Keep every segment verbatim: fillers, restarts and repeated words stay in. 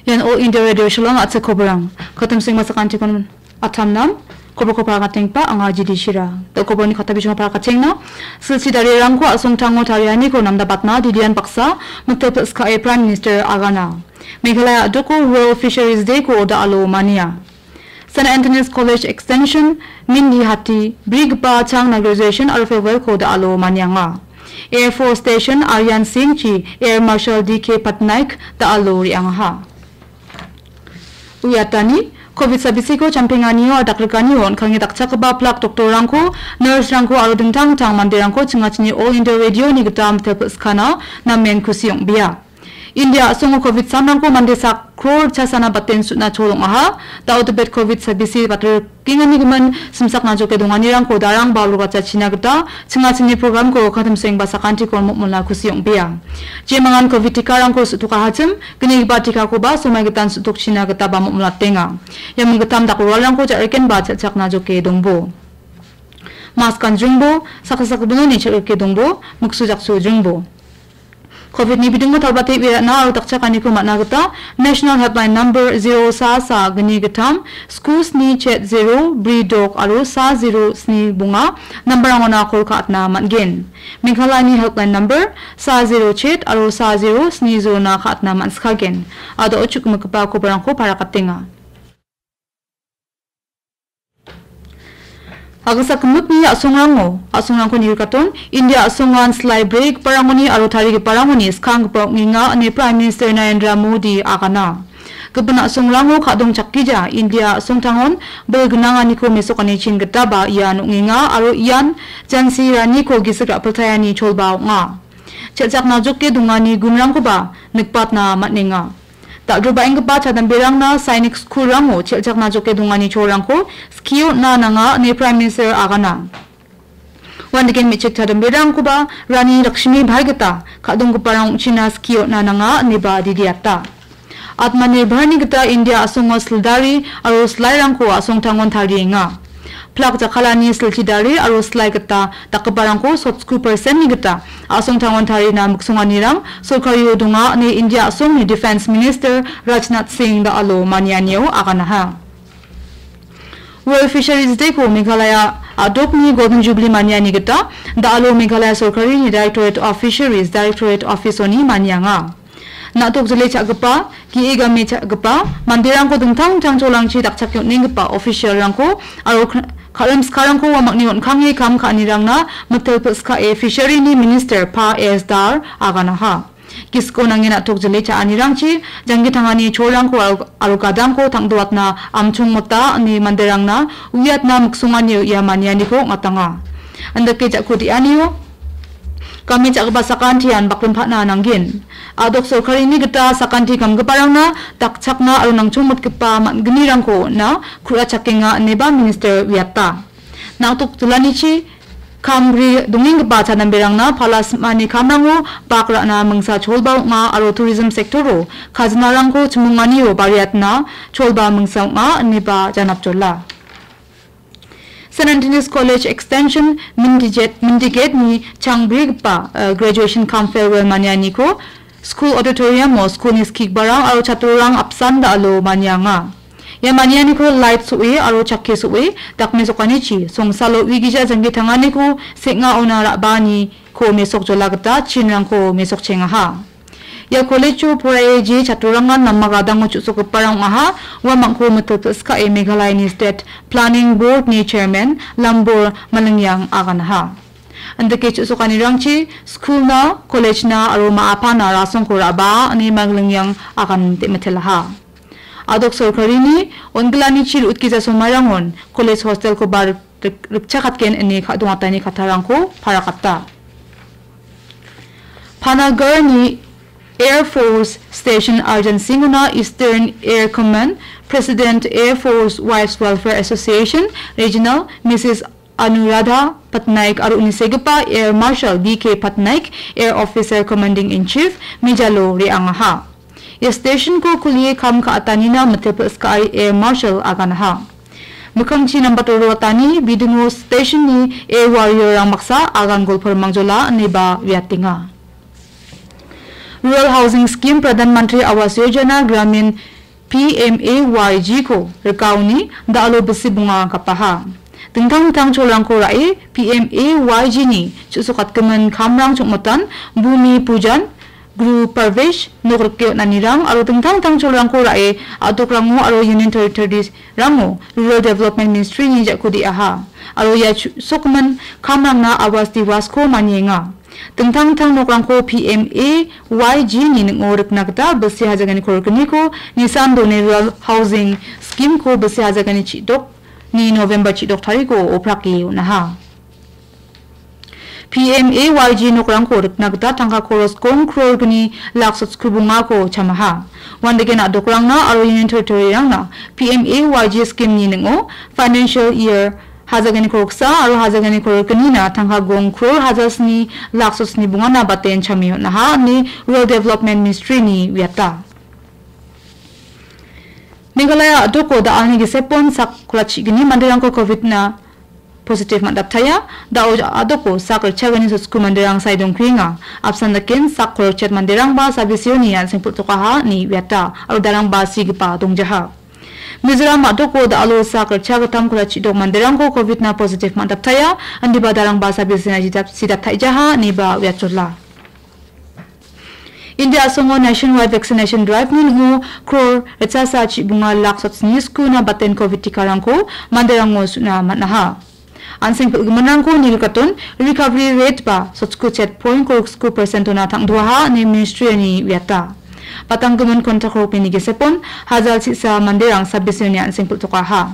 Ian All India Radio Shillong a·chik koborang. Katim sengma sakantikon atamnam, koborko parakatengpa anga Jidi Shira. Da koborni katabijongo parakatengna, silchi darirangko asongtango tarianiko namdabatna didian baksa, mitel pil·skae Prime Minister agana. Meghalaya a·doko World Fisheries Day-ko da·alo mania. Saint Anthony's College Extension, Mindi Hati, brigipa changna graduation aro farewell-ko da·alo manianga. Air Force Station, Aryan Singh-chi Air Marshal D K Patnaik da·alo re·angaha. Uiatani, covid sabisiko champenganio adakrikani on·kange dakchakgipa plak doktorrangko, nurse-rangko aro dingtang dingtang manderangko chingachini All India Radio-ni gita mitel pil·skana namen kusi ong·bea. India a·songo covid samrangko mande sak kror chasana baten sutna chol ong·aha. Da·o Tibet covid sabisi batrikengani gimin simsakna joke donganirangko darang ba rogachachina gita chingachini programko katimseng ba sakantiko mokmona kusi ong·bea. Jemangan covid tikarangko su·tokahachim, gnigipa tikakoba somai gitan su·tokchina gita ba mokmolatenga. Ia minggitam dak roalrangko ja·reken ba cha·chakna joke dongbo. Mask ganjrengbo, saksa sakbononi cha·rike dongbo, miksu jaksu jrengbo. Covid-ni bidingo talbate uiatna aro dakchakaniko man·a gita National Helpline Number zero sa sa gni gittam, sku sni chet zero bri dok aro sa zero sni bonga nambarangona kol ka·atna man·gen. Meghalayani Helpline Number sa zero chet aro sa zero sni zero-na ka·atna man·sikagen. Ado chukmikgipa kobarangko parakatenga. Agasa gimikni a·songrango, a·songrangko nirikaton, India a·songan slai brigiparangoni aro tarigiparangoni skanggipa ong·enga ine Prime Minister Narendra Modi agana. Gipin a·songrango ka·dong chakgija India a·songtangon bil gnanganiko mesokani chin gitaba ian ong·enga aro ian Jhansi Raniko gisik ra·piltaiani cholba ong·a. Chelchakna joke dongani gunrangkoba nikbatna man·enga. Dal·drobaenggipa chadamberangna sainik skulrango chelchakna joke dongani cholrangko skie on·na nanga ine Prime Minister agana. Uandake me·chik chadamberangkoba Rani Lakshmi Bai gita ka·donggiparang ong·china skie on·na nanga ineba didiata. Atmanirbharni gita India a·songo sildari aro silairangko a·songtangon tarienga. Plak jakkalani silchi dari aro silai gita dakgiparangko sotsko percent-ni gita a·songtangon tarina miksonganirang sorkario donga ine India a·songni Defence Minister Rajnath Singh da·alo manianio aganaha. World Fisheries Day-ko Meghalaya a·dokni Golden Jubilee maniani gita da·alo Meghalaya sorkarini Directorate of Fisheries, Directorate Office-oni manianga. Na·tok jile cha·gipa, ge·e game cha·gipa, manderangko dingtang dingtang cholangchi dakchake on·enggipa official-rangko aro kn-, ka-, rimskarangko uamangni on·kange kam ka·anirangna mitel pil·skae Fishery-ni Minister Pa S Dar aganaha. Gisiko nange na·tok jile cha·anirangchi janggi tangani cholrangko aro, aro gadangko tang·doatna amchong mota ine manderangna uiatna miksonganio ia manianiko ong·atanga. Andake ja·ko de·anio game cha·gipa sakantian baklim pa·na nanggen. A·dok sorkarini gita sakanti gamgiparangna dakchakna aro nangchongmotgipa man·gnirangko on·na ku·rachakenga ineba minister uiata. Na·tok jilanichi kam gri dongenggipa chadamberangna pala sim·ani kamrango bak ra·na mingsa cholba ong·a aro tourism sector-o kajinarangko chimonganio bariatna cholba mingsa ong·a ineba janapjola. Saint Anthony's College Extension Mindiget-, Mindiget-ni changbrigipa, eh, graduation cum farewell manianiko school auditorium-o school-ni skigiparang aro chatrorang apsan da·alo manianga. Ia manianiko light so·e aro chakke so·e dakmesokanichi songsalo uigija janggi tanganiko seng·aona ra·baaniko mesokjola gita chinrangko mesokchengaha. Ia college-o poraie je chatturangan nama gadango chu·sokgiparang ong·aha. Uamangko mitel pil·skae Meghalayani State Planning Board-ni Chairman Lambor Malingyang aganaha. Andake chu·sokanirangchi school-na, college-na aro ma·apana rasongko ra·baa ine Malingyang agan de·mitelaha. A·dok sorkarini on·gilanichi ru·utgija somarangon college hostel-koba rik-, rik-, rikchakatgen ine ka-, dongatani kattarangko parakata. Panagarni Air Force Station Arjan Singhona Eastern Air Command, President Air Force Wives Welfare Association Regional Missus Anuradha Patnaik aro uni segipa Air Marshal D K Patnaik, Air Officer Commanding in Chief, mejalo re·angaha. Ia station-ko kulie kam ka·atanina mitepil skae Air Marshal aganaha. Mikkangchi nambato roatani bidingo station-ni Air Warrior-rang baksa agan golporimangjola ineba uiatenga. Rural Housing Scheme, Pradhan Mantri Awas Yojana, Gramin P M A Y G ko rikaoni da·alo bisi bonga gapaha. Dingtang dingtang cholrangko ra·e P M A Y G ni chu·sokatgimin kamrang chongmotan, Bhumi Pujan, Guru Parvesh, nok rike on·anirang aro dingtang dingtang cholrangko ra·e a·dokrango aro Union Territories rango Rural Development Ministry ni ja·kode aha. Aro ia chu-, sokgimin kamrangna Awas Diwas ko manienga. Dingtang dingtang nokrangko P M A Y G ni ning·o rikna gita bilsi hajaganiko rikgniko Nissan Done Rural Housing Scheme ko bilsi hajagani chidok ni November chidok tariko oprake on·aha. P M A Y G nokrangko rikna gita tangka koros gong kror gni lak sotsku bongako chamaha. Uandake na·dokrangna aro Union Territory-rangna P M A Y G scheme-ni ning·o financial year hajagani koroksa aro hajagani korokgnina tangka gong kror hajalsni lak sotsni bongana baten chame on·aha ine Rural Development Ministry-ni uiata. Meghalaya a·doko da·alni gisepon sak kolachigni manderangko covid-na positive man·daptaia. Da·o a·doko sak ritchagni sotsku manderang sae dongkuenga. Apsan daken sak kolokchet manderangba sabisioni an·seng pul·tokaha ine uiata aro darangba sigipa dongjaha. Mizoram a·doko da·alo sak ritchagittam kolachidok manderangko covid-na positive man·daptaia, indiba darangba sabisina sidap-, sidaptaijaha ineba uiatjola. India a·songo nationwide vaccination drive-ni ning·o kror ritchasa chibonga lak sotsni skuna baten covid tikarangko manderango su·na man·aha. An·seng pil·giminrangko nirikaton recovery rate ba sotsku chet point korksku percent-ona tang·duaha ine ministry-ni uiata. Patanggimin kontak rokni gisepon hajal sisa manderang sabisioni an·seng pil·tokaha.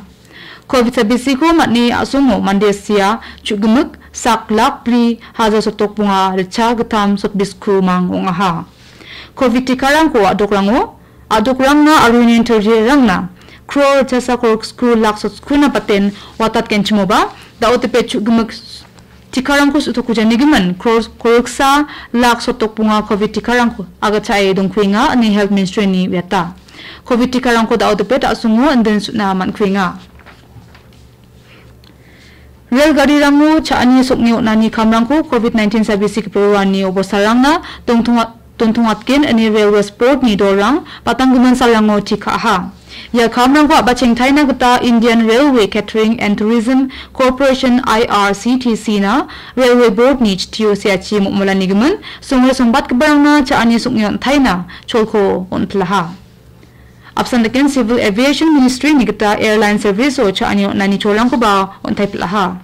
Covid sabisiko man·e a·songo mande sia chu·gimik sak lak bri haja sotok bonga ritcha gittam sotbisku mang ong·aha. Covid tikarangko a·dokrango, a·dokrangna aro Union Territory-rangna kror ritchasa korksku lak sotskuna baten watatgenchimoba, da·o tipe chu·gimik tikarangko su·tokujanigimin kror korksa lak sotok bonga covid tikarangko agachae dongkuenga ine Health Ministry-ni uiata. Covid tikarangko da·o dipet a·songo indin su·na man·kuenga. Rel garirango cha·ani sokni on·ani kamrangko covid nineteen sabisi gipin roani obostarangna dongtonga-, dontongatgen ine Railways Board-ni dolrang patanggimin salrango tikaha. Ia kamrangko a·bachengtaina gita Indian Railway Catering and Tourism Corporation, I R C T C-na Railway Board-ni chitio seachi momolanigimin songre songbatgiparangna cha·ani sokni on·taina cholko on·pilaha. Apsan daken Civil Aviation Ministry-ni gita airline service-o cha·ani on·ani cholrangkoba on·taipilaha.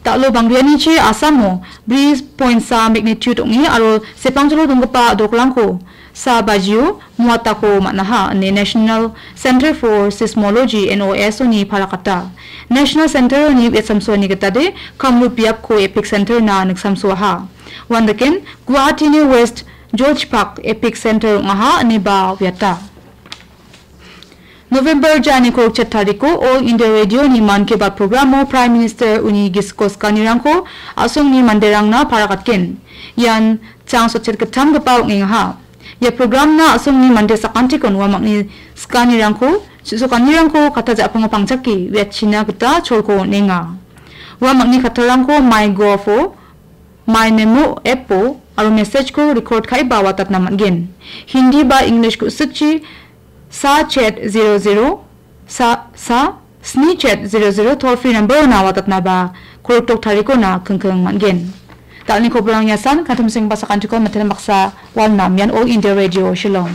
Da·lo bangrianichi Assam-o bri point sa magnitude ong·e aro sepangjolo donggipa a·dokrangko sa bajio muatako man·aha ine National Center for Seismology, N O S O-ni parakata. National Center-oni uiatsamsoani gitade Kamrup biapko epic center-na niksamsoaha. Uandaken Guwahati-ni West George Park Epic Center ong·aha ineba uiata. November jani korokchet tariko All India Radio-ni Mann Ki Baat programo Prime Minister uni gisiko skanirangko a·songni manderangna parakatgen. Ian chang sotchet gittamgipa ong·engaha. Ia programna a·songni mande sakantikon uamangni skanirangko, su·sokanirangko katta ja·pango pangchake uiatchina gita cholko on·enga. Uamangni kattarangko MyGov-o, MyNamo app-o aro message-ko record ka·e ba watatna man·gen. Hindi ba English ku·sikchi sa chet zero zero sa, sa sni chet zero zero toll free number-ona watatna ba koroktok tarikona kingking man·gen. Da·alni koborang iasan, kantimsengba sakantikon miten baksa walna mian All India Radio Shillong.